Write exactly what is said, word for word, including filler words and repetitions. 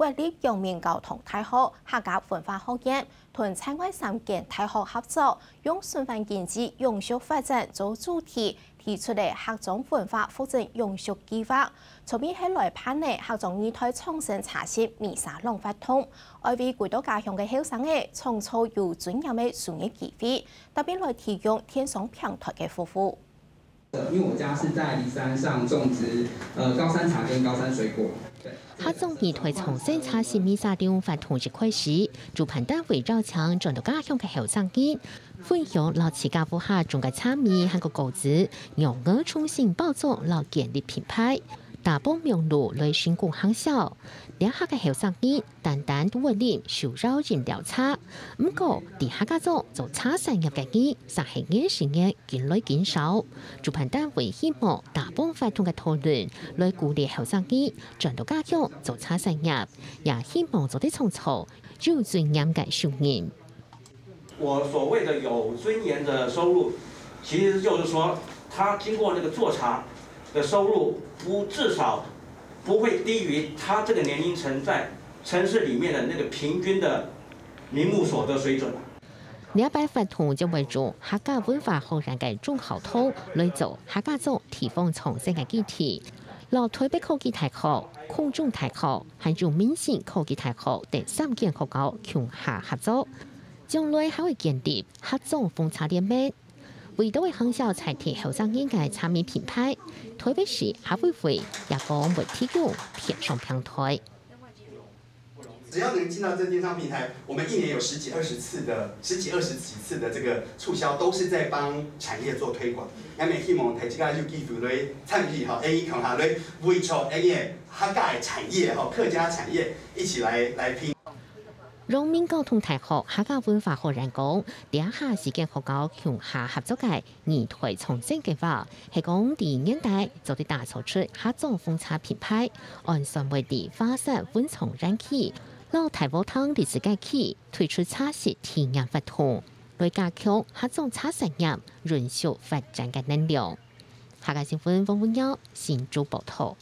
國立陽明交通大學客家文化學院同在外三間大學合作，用循環經濟永續發展做主題，提出了客庄文化復振永續計畫，著名係來辦理客庄二代創生茶席米沙朗活動，愛為歸到家鄉个後生仔創造有尊嚴个就業機會，特別來提供電商平台个服務。 因为我家是在梨山上种植呃高山茶跟高山水果。客庄二代創生茶席米沙朗活動一開始，主辦單位邀請轉到家鄉个後生人，分享摎自家屋下種个茶米還過果子，仰仔重新包裝摎建立品牌，打幫網路來成功行銷。這下个後生人 單單都會啉手搖飲料茶。毋過，在客家庄做茶產業个人，煞係越時越緊來緊少。主辦單位希望打幫活動个討論，來鼓勵後生人轉到家鄉做茶產業，也希望做得創造有尊嚴个收入。我所謂的有尊嚴的收入，其實就是說，他經過那個做茶的收入不至少不會低於他這個年齡層在城市裡面的那個平均的名目所得水準。這擺活動將會用客家文化學院个中校堂來做客家庄地方創生个基地，摎臺北科技大學、空中大學，還有民生科技大學等三間學校共下合作，將來還會建立客庄紅茶聯盟。 為著愛行銷在地後生人个茶米品牌，臺北市客委會也講會提供電商平台。只要能進到這電商平台，我們一年有十幾二十次的十幾二十幾次的這個促銷，都是在幫產業做推廣。𠊎也希望大家有機會來參與吼，𠊎共下來為著𠊎个客家的產業吼，客家產業一起來來拼。 陽明交通大學客家文化學院講，這下四間學校共下合作个二代創生計畫，係講第二年代做得打造出客庄紅茶品牌，按算會在華山文創園區、摎大和塘歷史街區推出茶席體驗活動，來加強客庄茶產業永續發展个能量。客家新聞黃文耀新竹報導。